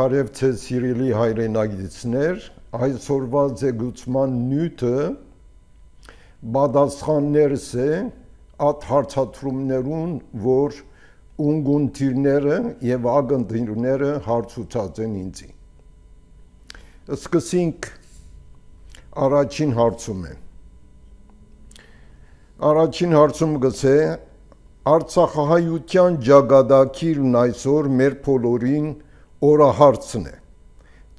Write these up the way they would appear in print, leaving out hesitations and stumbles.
Բարև ձեզ սիրելի հայրենագիտներ, այսօրվա ձգուցման նյութը պատասխաններս է այդ հարցադրումներուն, որ ունգունտիրները եւ ագնդիրները հարցուցած են ինձի։ Սկսենք առաջին հարցումը։ Առաջին հարցումը գսե Արցախահայության ճակատագիրն այսօր մեր բոլորին օրահարցն է։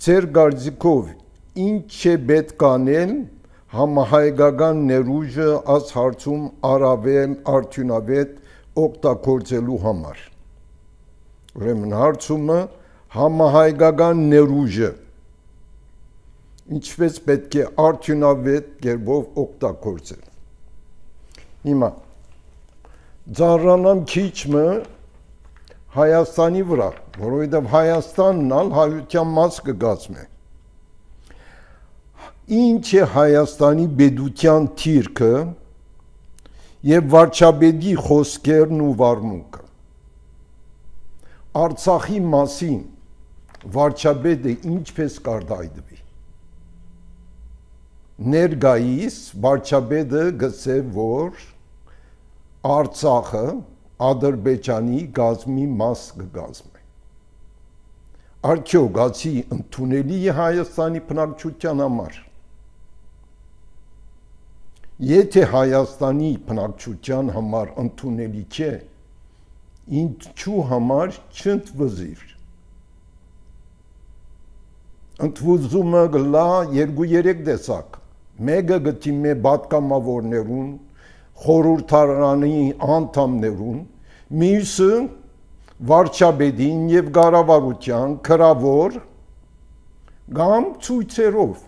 Ձեր կարծիքով ինչ է պետք անել համահայկական ներուժը այս հարցում առավել արդյունավետ օգտագործելու համար։ Ուրեմն հարցումը համահայկական ներուժը ինչպես պետք է արդյունավետ կերպով օգտագործել։ Հիմա ծառանամ քիչը Հայաստանի վրա, որովհետև Հայաստանն ալ հայության մաս կգազմե։ Ինչ է Հայաստանի պետության թիրքը եւ վարչապետի խոսքերն ու վարմունքը։ Արցախի մասին վարչապետը ինչպես կարտահայտվի։ Ներկայիս վարչապետը գսե, որ Արցախը Ադրբեջանի գազմի մաս կգազմի։ Արդյոք ասի ընդունելի է Հայաստանի բնակչության համար։ Եթե Հայաստանի բնակչության համար ընդունելի չէ, ինչու համար չընդվզիր։ Ընդվզումը գլա 2-3 տեսակ։ Մեկը գտիմե պատգամավորներուն, խորհրդարանի անդամներուն, մյուսը վարչապետին եւ կառավարության քրավոր կամ ցույցերով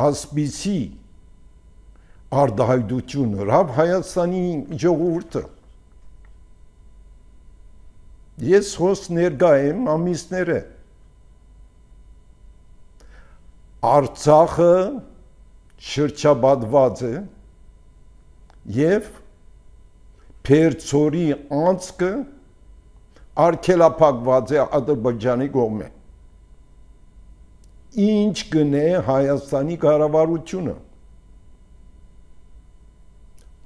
ասպիսի արդահայտություն հրավ Հայաստանի ժողովուրդը։ Ես հոս ներկա եմ ամիսները Արցախը շրջապատված է եւ Փերձորի անցքը արգելափակված է Ադրբեջանի կողմէ։ Ինչ կնե Հայաստանի կառավարությունը։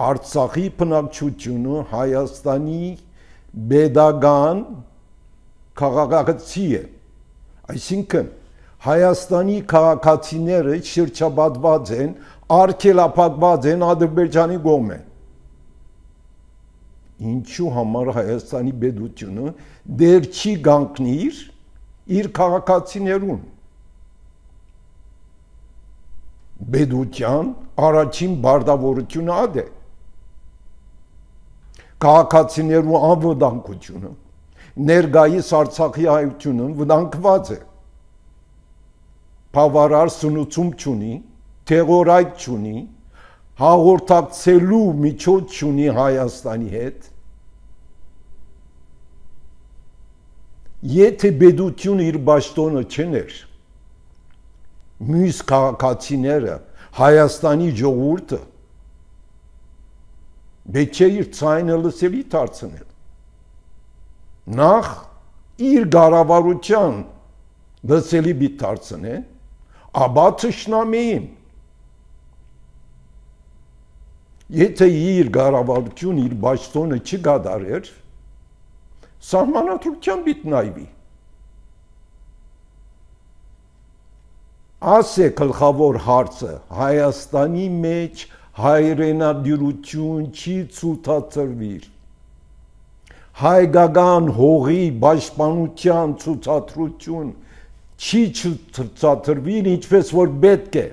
Արցախի բնակչությունը Հայաստանի պետական քաղաքացի է։ Այսինքն Հայաստանի քաղաքացիները շրջապատված են, արգելափակված են Ադրբեջանի կողմէ։ Ինչու համար Հայաստանի պետությունը դեռ չի կանգնիր իր քաղաքացիներուն։ Պետության առաջին բարտավորությունը ա է։ Քաղաքացիներու անվտանգությունը, ներկայիս Արցախի հայությունը վտանգված է։ Բավարար սնուցում չունի, թեղորայք չունի, հաղորդակցելու միջոց չունի Հայաստանի հետ։ Եթե պետությունը իր պաշտոնը չներ, մյուս քաղաքացիները, Հայաստանի ժողովուրդը պետք է իր ցայնը լսելի դարձնել։ Նախ իր կառավարության լսելի պիտի դարձնեն, ապա թշնամիին։ Եթե իր կառավարություն իր պաշտոնը չկատարեր, սահմանադրության պիտի նայվի։ Ասե գլխավոր հարցը Հայաստանի մեջ հայրենադիրություն չի ցուցադրվիր։ Հայկական հողի պաշտպանության ցուցադրություն չի ցուցադրվիր ինչպես որ պետք է։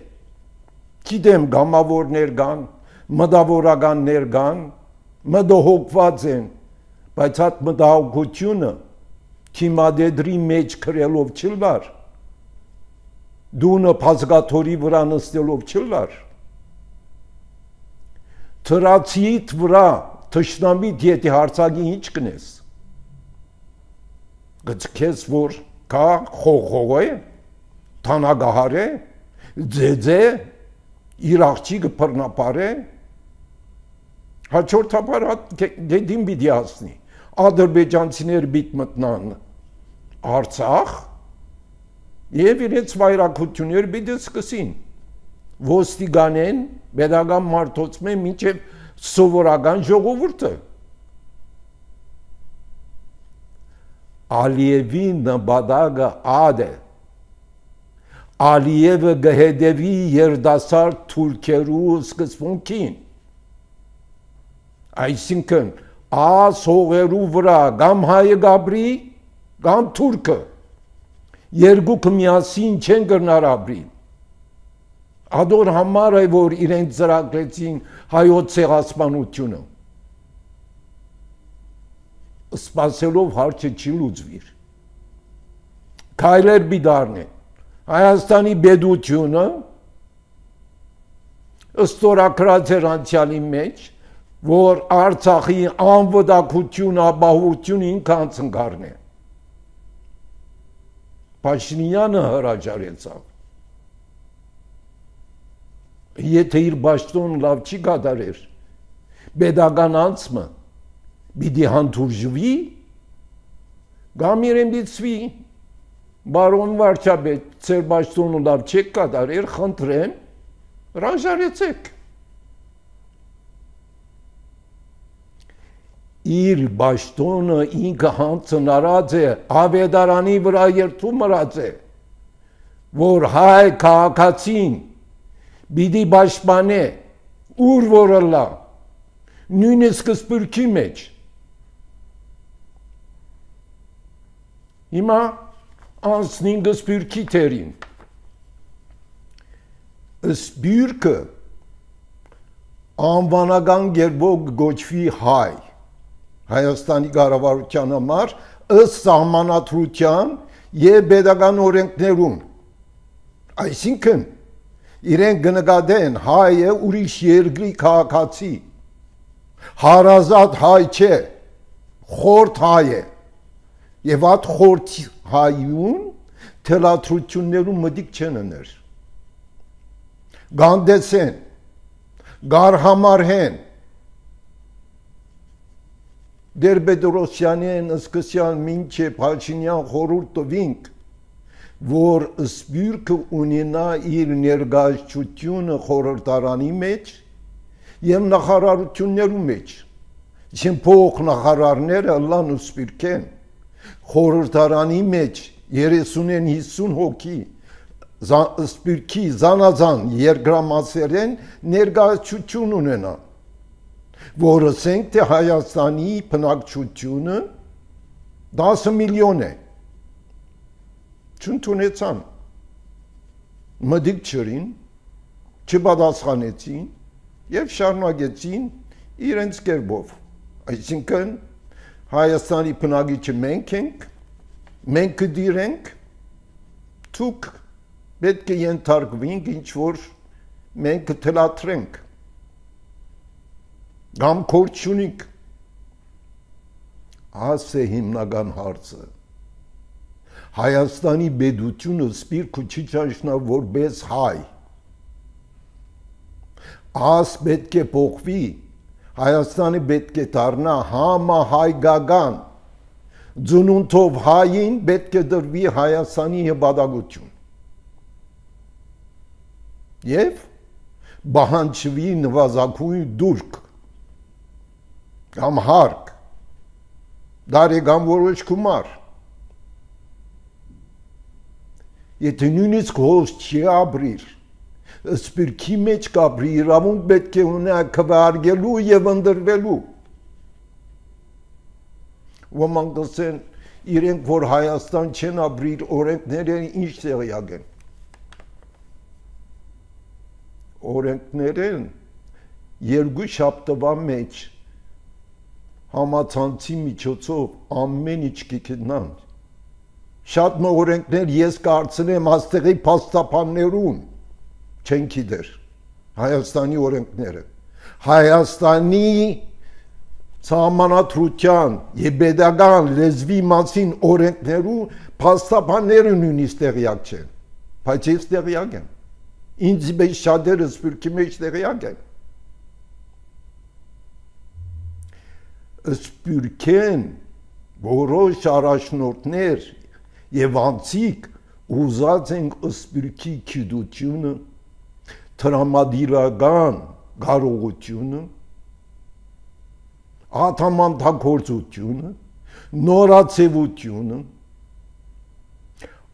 Գիտեմ գամավորներ կան, մտավորականներ կան, մտահոգված են, բայց այդ մտահոգությունը թիմադեդրի մեջ քրելով չլար, դունը փազգաթորի վրա նստելով չլար, թրացիիդ վրա թշնամիդ եթե հարցակի ինչ կնես, գծքես որ կա խողող է, թանագահար է, ձեձ է, իր աղջիկը բռնապար է, հաջորդաբար դին պիտի հասնի, ադրբեջանցիներ բիտ մտնան Արցախ եւ իրենց վայրակությունները պիտի սկսին ոստիկանեն pedagogan մարդոցմեն մինչև սովորական ժողովուրդը Ալիևի նպատակը ադը Ալիևը գհետևի երդասարդ թուրքերու սկզբունքին այսինքն ասողերու վրա կամ հայը գաբրի կամ թուրքը երկուքը միասին չեն գնար ապրի Ադոր համար է որ իրենք ծրագրեցին հայոց ցեղասպանությունը սպասելով հարցը չի լուծվիր քայլեր բիդարն է Հայաստանի բեդությունը ստորակրած էր անցյալի մեջ որ Արցախի անվտանգություն, ապահովություն ինքան ցնկարն է Փաշինյանը հրաժարեցավ Եթե իր ճաշտոն լավ չի կատարեր pedagogan անցմը պիտի հանդուրժվի կամ իրեն դիցվի Բարոն վարչապետ, ծեր ճաշտոնը լավ չեք կատարեր, խնդրեմ, հրաժարեցեք Իր ճաշտոնը ինքը հանձնարած է ավետարանի վրա երթում մրած է որ հայ քաղաքացին պիտի պաշտպանե ուր որը լա նույնիսկ սպիրկի մեջ հիմա անցնին սպիրկի թերին սպիրկը անվանական գերբով գոչվի հայ Հայաստանի կառավարության համար ըստ սահմանադրության եւ pedagogan օրենքներում այսինքն իրենք կնկատեն հայը ուրիշ երկրի քաղաքացի հարազատ հայ չէ խորթ հայ է եւ այդ խորթ հայուն թելադրություններում մտիկ չեն ուներ գանդեսեն գարհամարհեն դեր Պետրոսյանեն սկսյան մինչե Փաշինյան խորհուրդ տվինք որ սպիրկը ունենա իր ներկայացությունը խորհրդարանի մեջ եւ նախարարություններու մեջ Չեն փող նախարարները լան ու սպիրկեն խորհրդարանի մեջ 30-ին 50 հոգի սպիրկի զանազան երկրամասերեն ներկայացություն ունենան որ ասենք թե Հայաստանի բնակչությունը 10 միլիոն է չընդունեցան մտիկ չրին չպատասխանեցին եւ շարունակեցին իրենց կերպով այսինքն Հայաստանի բնակիչը մենք ենք մենք կդիրենք թուք պետք է ենթարկվենք ինչ որ մենք կթելադրենք Կամ կորչունիկ Աս է հիմնական հարցը Հայաստանի բեդությունը սպիրկը չի ճաշնա որպես հայ Աս պետք է փոխվի Հայաստանը պետք է դառնա համահայկական Ձունունթով հային պետք է դրվի Հայաստանի հպատակություն Եվ բահանջվի նվազագույն դուրք կամ հարկ դարեգան որոշ կումար եթե նույնիսկ հոս չի ապրիր սպիրկի մեջ կապրի իրավունք պետք է ունենա քվեարկելու եւ ընդրվելու ոմանք դասեն իրենք որ Հայաստան չեն ապրիր օրենքները ինչ տեղյակ են օրենքներն երկու շաբթվա մեջ համացանցի միջոցով ամեն ինչ կգտնան շատ օրենքներ ես կարծեմ աստեղի փաստաբաններուն չեն գիտեր Հայաստանի օրենքները Հայաստանի Սահմանադրության եւ pedagogan լեզվի մասին օրենքներու փաստաբանները նույնիսկ տեղյակ չեն բայց ես տեղյակ եմ ինձ մեջ շատերը սպիրկի մեջ տեղյակ են Սպիրկեն որոշ առաջնորդներ եւ անցիկ ուզած են սպիրկի քիդությունը, տրամադիրական կարողությունը, աթամանդակործությունը, նորացևությունը,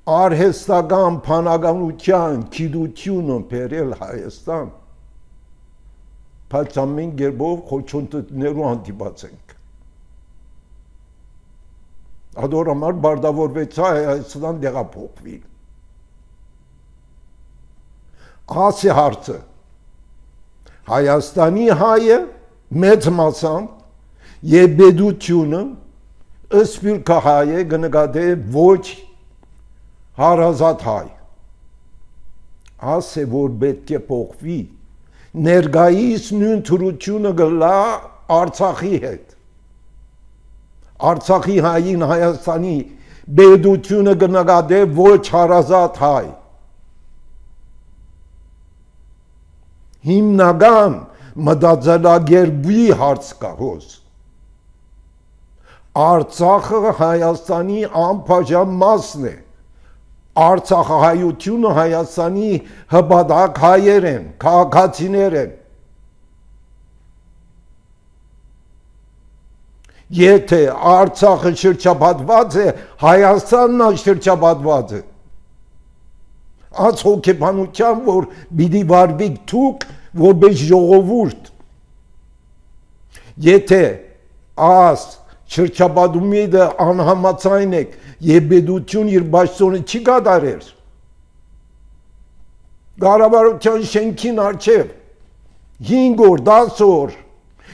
արհեստական փանականության քիդությունը բերել Հայաստան, բայց ամեն գերբով խոչընդոտներու հանդիպած ենք։ Ադոր համար բարդավորվեց Հայաստան դեղափոխվի։ Ասի հարցը, Հայաստանի հայը մեծ մասամբ եւ բեդությունը սպիրկա հայ է գնկադե ոչ հարազատ հայ։ Ասե որ պետք է փոխվի ներկայիս նույն թրությունը գլա Արցախի հետ։ Արցախի հային Հայաստանի բեդությունը գնկադե ոչ հարազատ հայ։ Հիմնական մտածելակերպի հարց կա հոս։ Արցախը Հայաստանի անբաժան մասն է։ Արցախահայությունը Հայաստանի հպատակ հայեր են, քաղաքացիներ են։ Եթե Արցախը շրջապատված է, Հայաստանն է շրջապատված է։ Այս հոգեբանության, որ պիտի վարվիկ դուք որպես ժողովուրդ, եթե այս շրջապատումի անհամաձայն եք եւ բեդություն իր բաշտոնը չի կատարեր, կառավարության շենքին առջև 5 օր, 10 օր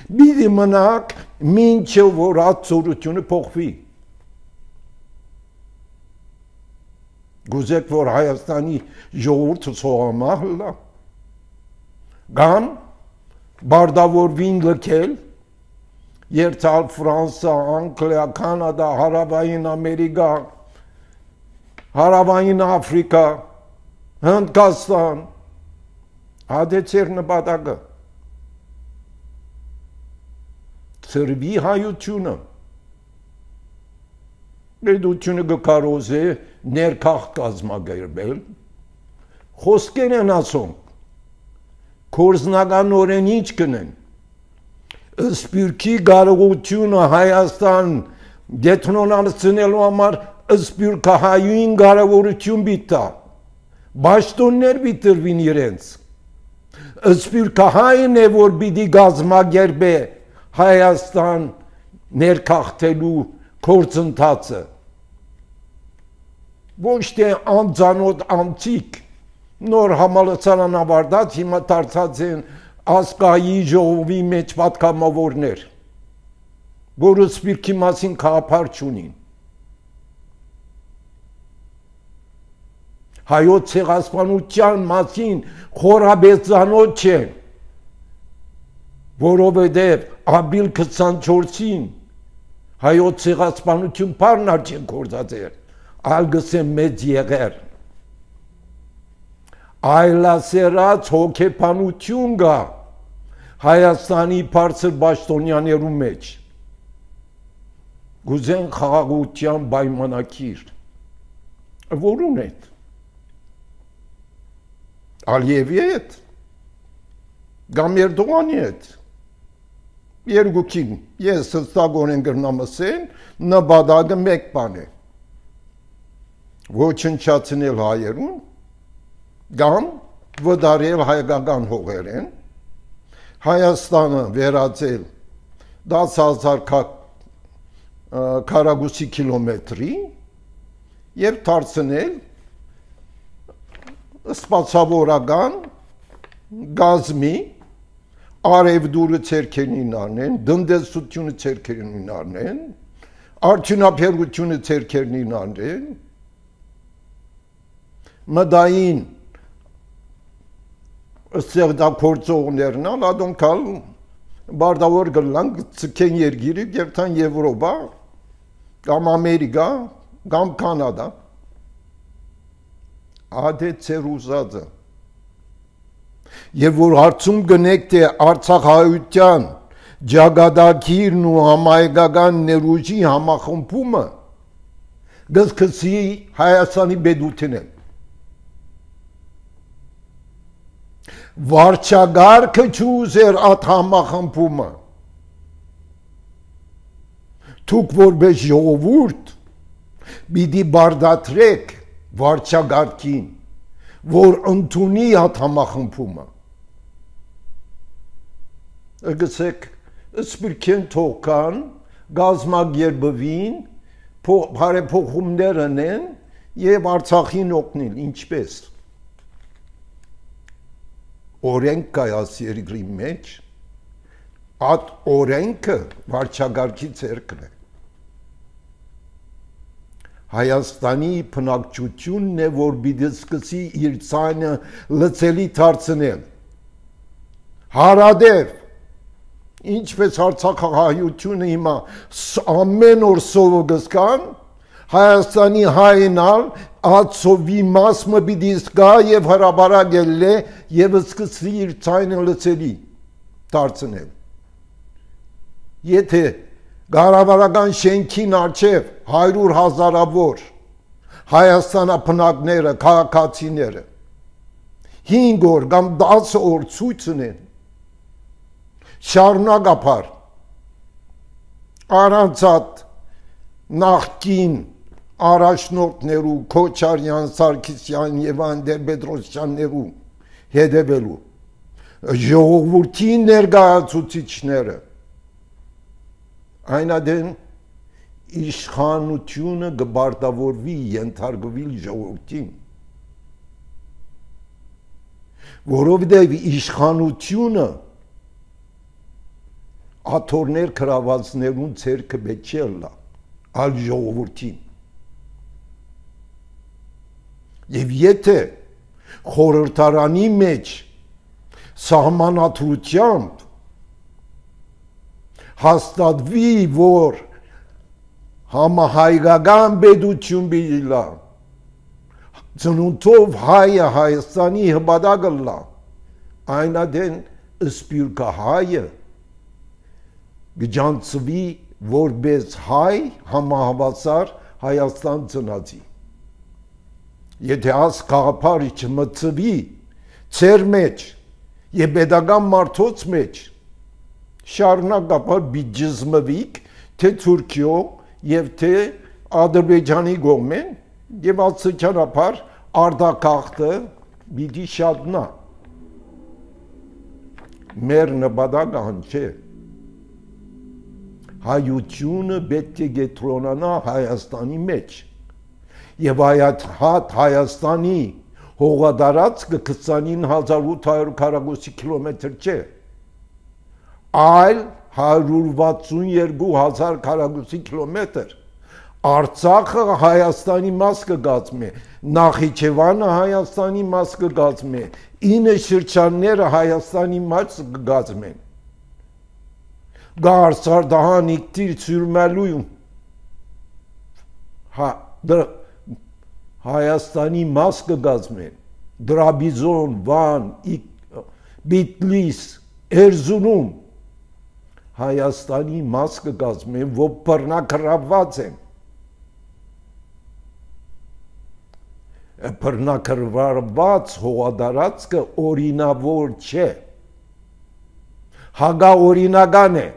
պիտի մնաք, մինչև որ ածորությունը փոխվի։ Գուզեք, որ Հայաստանի ժողովուրդը սողամահ լա, կամ բարդավորվին լքել, երթալ Ֆրանսա, Անգլիա, Կանադա, Հարավային Ամերիկա, Հարավային Աֆրիկա, Հնդկաստան, ադեցեր նպատակը, ծրվի հայությունը, պետությունը կկարոզե ներքաղ կազմակերպել, խոսքեր են ասում, կորզնականորեն ինչ կնեն, սպիրկի կարողությունը Հայաստան դեթնոնացնելու համար սպիրկահայույն կարողություն բիտա, բաշտոններ բիտրվին իրենց, սպիրկահայն է, որ պիտի կազմակերպե Հայաստան ներքաղթելու գործընթացը, ոչ թե անձանոտ անցիկ, նոր համալսարան ավարտած, հիմա դարձած են ասկայի ժողովի մեջ պատգամավորներ, որը սպիրկի մասին գաղափար չունին։ Հայոց ցեղասպանության մասին խորաբեծանոց չեն, որովհետև ապրիլ 24-ին հայոց ցեղասպանություն բառն չեն գործածել, այլ գսեն մեծ եղեր։ Այլասերած հոգեբանություն կա Հայաստանի բարձր պաշտոնյաներու մեջ, գուզեն խաղաղության պայմանագիր, որուն հետ, Ալիևի հետ, կամ Էրդողանի հետ, երկուքին, ես հստակորեն կրնամ ասեն, նպատակը մեկ բան է, ոչնչացնել հայերուն, կամ վդարել հայկական հողերեն, Հայաստանը վերածել 10,000 քառակուսի կիլոմետրի եւ դարձնել սպասավորական գազմի արևդուրը ցերքերին առնեն, դնդեսությունը ցերքերին առնեն, արդյունաբերությունը ցերքերին առնեն, մդային ստեղծագործողներն ալ ադոնքալ բարդավոր գլան ցկեն երգիրը երթան Եվրոպա կամ Ամերիկա կամ Կանադա ադե ցերուզածը եւ որ հարցում գնեք թե Արցախահայության ջագադակիրն ու համայգական ներուժի համախմբումը գսկսի Հայաստանի բեդութին են։ Վարչագարքը չուզեր այդ համախմբումը։ Դուք որպես ժողովուրդ պիտի բարդատրեք վարչագարքին, որ ընդունի այդ համախմբումը։ Գսեք սպիրկեն թողքան, գազմագերբվին, բարեփոխումներ անեն եւ Արցախին օգնին, ինչպես։ Օրենք կա այս երկրի մեջ, այդ օրենքը վարչագարքի ձեռքն է։ Հայաստանի բնակչությունն է, որ պիտի սկսի իր ձայնը լծելի դարձնել։ Հարադեպ, ինչպես Արցախահայությունը հիմա ամեն օր սովը գսկան, Հայաստանի հայնալ այդ սովի մասը պիտի զգա եւ հրաբարակել է եւ սկսի իր ձայնը լծելի դարձնել։ Եթե Գարավարական շենքին արջև 100,000-ավոր Հայաստանապնակները, քաղաքացիները 5 օր կամ 10 օր ցույց ունեն շարունակապար առանց նախկին առաջնորդներու Քոչարյան, Սարգսյան եւ Անդեր-Պետրոսյաններու հետևելու ժողովրդի ներկայացուցիչները այնադեն իշխանությունը գբարտավորվի ենթարկվի ժողովրդին, որովհետև իշխանությունը աթոռներ կրավածներուն ցերկը բեչելա ալ ժողովրդին։ Եվ եթե խորհրդարանի մեջ սահմանադրությամբ հաստատվի, որ համահայկական պետություն բիլա, ծնունդով հայը Հայաստանի հպատակը լա, այնադեն սպիրկա հայը գջանցվի որպես հայ համահավասար Հայաստան ծնածի։ Եթե աս կաղապարի չմծվի ծեր մեջ և պետական մարդոց մեջ շարունակապար բիջզմվիկ թե Թուրքիո և թե Ադրբեջանի գոմեն և ասычանապար արդակաղթը բիդի շատնա։ Մեր նպատակը հան չէ։ Հայությունը պետք է գետրոնանա Հայաստանի մեջ և այդ Հայաստանի հողադարածքը 29,800 քառակուսի կիլոմետր չէ, այլ 162,000 քառակուսի կիլոմետր։ Արցախը Հայաստանի մաս կգազմի, Նախիջևանը Հայաստանի մաս կգազմի, 9 շրջանները Հայաստանի մաս կգազմեն։ Գար, Սարդահան, Իգտիր, Սյուրմալույում Հայաստանի մաս կգազմեն, Դրաբիզոն, Վան, Բիտլիս, Էրզունում Հայաստանի մաս կգազմեն, որ բռնակրված են։ Բռնակրված հողադարածքը օրինավոր չէ, հագաօրինական է,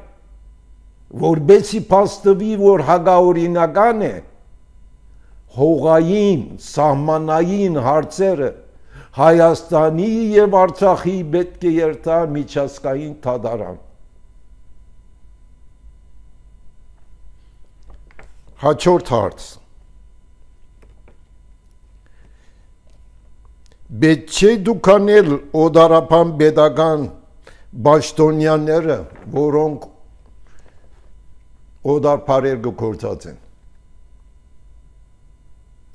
որբեսի փաստվի, որ հագաօրինական է, հողային, սահմանային հարցերը Հայաստանի և Արցախի պետք է երթա միջազգային դատարան։ Հաջորդ հարց։ Պետք չէ դուք անել օդարապան պետական պաշտոնյաները, որոնք օդարբարեր գործած են։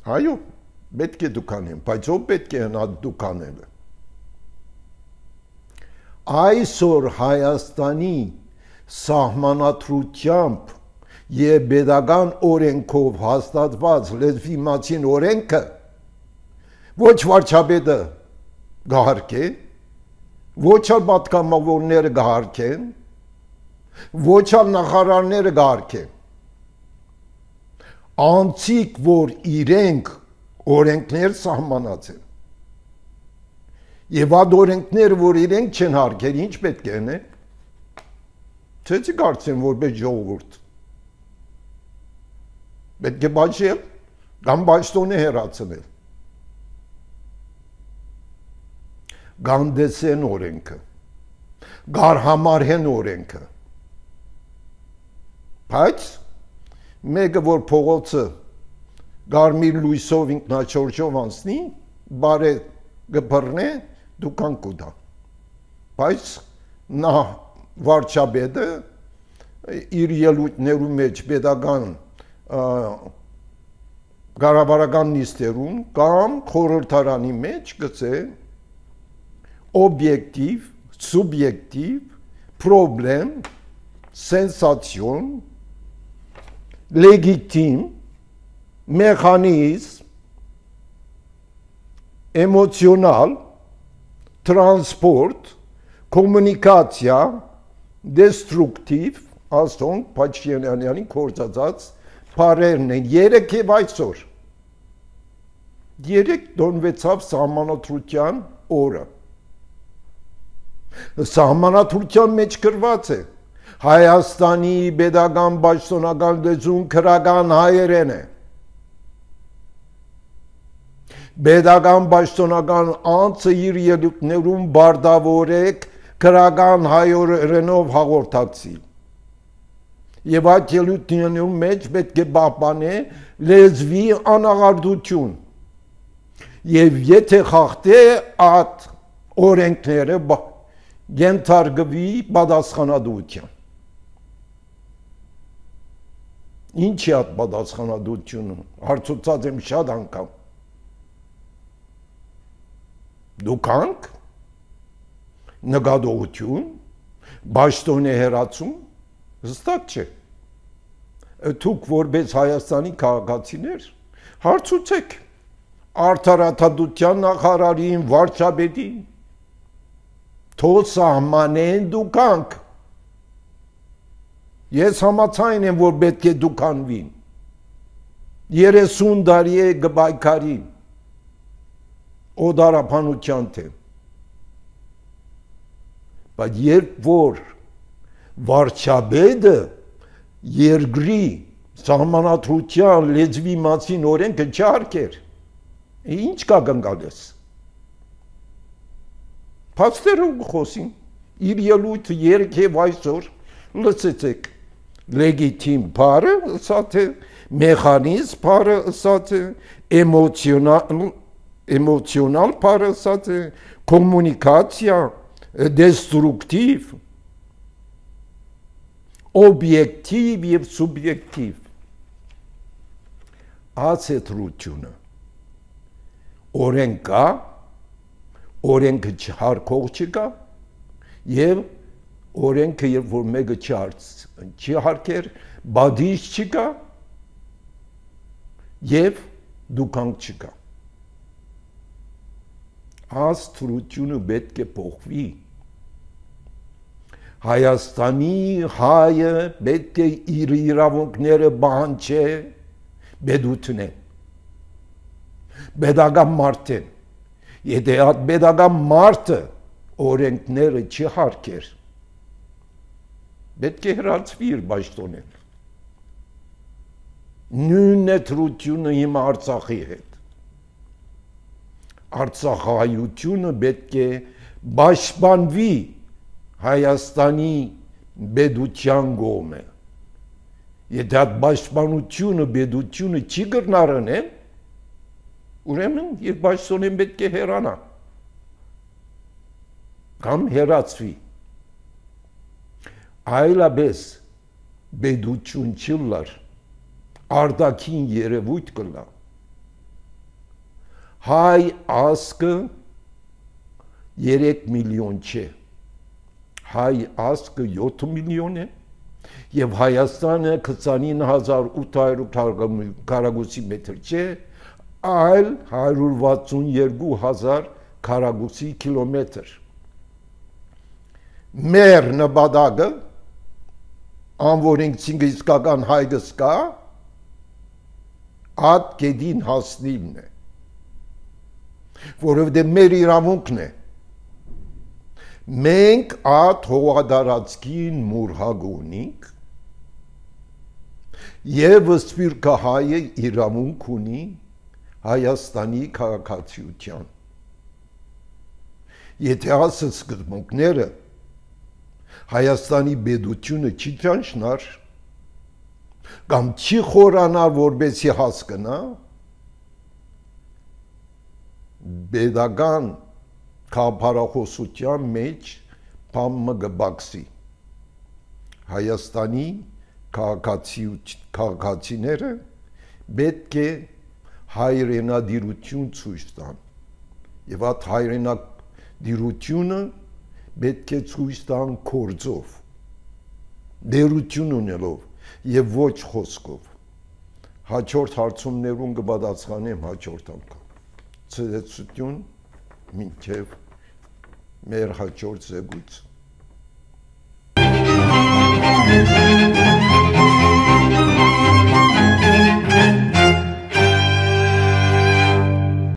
Այո, պետք է դուք անեն, բայց ով պետք է հնա դուք անելը։ Այսօր Հայաստանի սահմանադրությամբ և պետական օրենքով հաստատված լեզվի մասին օրենքը ոչ վարչապետը գահարկե, ոչ էլ պատգամավորները գահարկեն, ոչ ալ նախարարները գարկեն։ Անցիկ, որ իրենք օրենքներ սահմանած են։ Եվ այդ օրենքները, որ իրենք չեն հարգել, ինչ պետք է անեն։ Չէ՞ կարծեն որպես ժողովուրդ։ Պետք է բաշխել կամ բաշխոնը հեռացնել։ Գանդեսեն օրենքը, գարհամարհեն օրենքը։ Բայց մեկը որ փողոցը գարմիր լույսով ինքնաչորժով անցնի, բարե գբռնե, դուքան կուտա։ Բայց նա վարչապետը իր ելույթներու մեջ պետական կառավարական նիստերուն կամ խորհրդարանի մեջ գծե օբյեկտիվ, սուբյեկտիվ, պրոբլեմ, սենսացիոն, լեգիտիմ, մեխանիզմ, էմոցիոնալ, տրանսպորտ, կոմունիկացիա, դեստրուկտիվ, ասոնք Փաշինյանյանի կործածած բարերն են, երեք և այսօր, երեք դոնվեցավ սահմանադրության օրը, սահմանադրության մեջ գրված է, Հայաստանի պետական պաշտոնական լեզուն քրական հայերեն է, պետական պաշտոնական անձը իր ելույթներում բարդավորեք քրական հայերենով հաղորդակցի։ Եվ այդ ելույթներում մեջ պետք է պահպանե լեզվի անաղարդություն։ Եվ եթե խախտե այդ օրենքները ենթարկվի պատասխանատվության։ Ինչ է այդ պատասխանատվությունը, հարցուցած եմ շատ անգամ։ Դուքանք, նկատողություն, պաշտոնի հեռացում, հստակ չէ։ Դուք որպես Հայաստանի քաղաքացիներ հարցուցեք արդարադատության նախարարին, վարչապետին, թող սահմանեն դուքանք։ Ես համաձայն եմ, որ պետք է դուքանվին։ 30 տարի է գբայքարին, օդարապանության թեմ։ Բայց երբ որ վարչապետը երկրի սահմանադրության լեզվի մասին օրենքը չհարգեր, ինչ կա գնկալես։ Փաստերով խոսին, իր ելույթը երեք և այսօր լսեցեք, լեգիտիմ բառը ըսած է, մեխանիզմ բառը ըսած է, էմոցիոնալ բառը ըսած է, կոմունիկացիա, դեստրուկտիվ, օբյեկտիվ և սուբյեկտիվ։ Ացետրությունը օրենք կա, օրենքը չհարկող չկա և օրենքը երբ որ մեկը չհարկեր, բադիժ չկա և դուքանք չկա։ Աստրությունը պետք է փոխվի։ Հայաստանի հայը պետք է իր իրավունքները պահանջե պետութենեն, պետական մարդեն։ Եթե այդ պետական մարդը օրենքները չհարգեր, պետք է հեռացվի իր պաշտոնեն։ Նույնն է թրությունը հիմա Արցախի հետ։ Արցախայությունը պետք է պաշտպանվի Հայաստանի պետության կողմը։ Եթե այդ պաշտպանությունը պետությունը չի կրնարանել, ուրեմն իր պաշտոնեն պետք է հեռանա կամ հեռացվի։ Այլապես պետություն չլար, արտաքին երևույթ կլա։ Հայ ազգը 3 միլիոն չէ, հայ ազգը 7 միլիոն է և Հայաստանը 29,800 քառակուսի մետր չէ, այլ 162,000 քառակուսի կիլոմետր։ Մեր նպատակը անոր իսկական հայրս կա, այդ գեդին հասնիլն է, որովհետև մեր իրավունքն է, մենք այդ հողադարածքին մուրհակ ունենք, եւ սպիրկը հայը իրավունք ունի Հայաստանի քաղաքացիության։ Եթե ասը սկզբունքները Հայաստանի պետությունը չի ճանչնար, կամ չի խորանար, որբեսի հասկնա, պետական քաղաքապարախոսության մեջ բամը գբաքսի։ Հայաստանի քաղաքացիները պետք է հայրենադիրություն ցույց տան, եւ այդ հայրենադիրությունը պետք է ցույց տան գործով, դերություն ունելով եւ ոչ խոսքով։ Հաջորդ հարցումներուն կպատասխանեմ հաջորդ անգամ։ Ցտեսություն մինչեւ մեր հաջորդ զեկույց։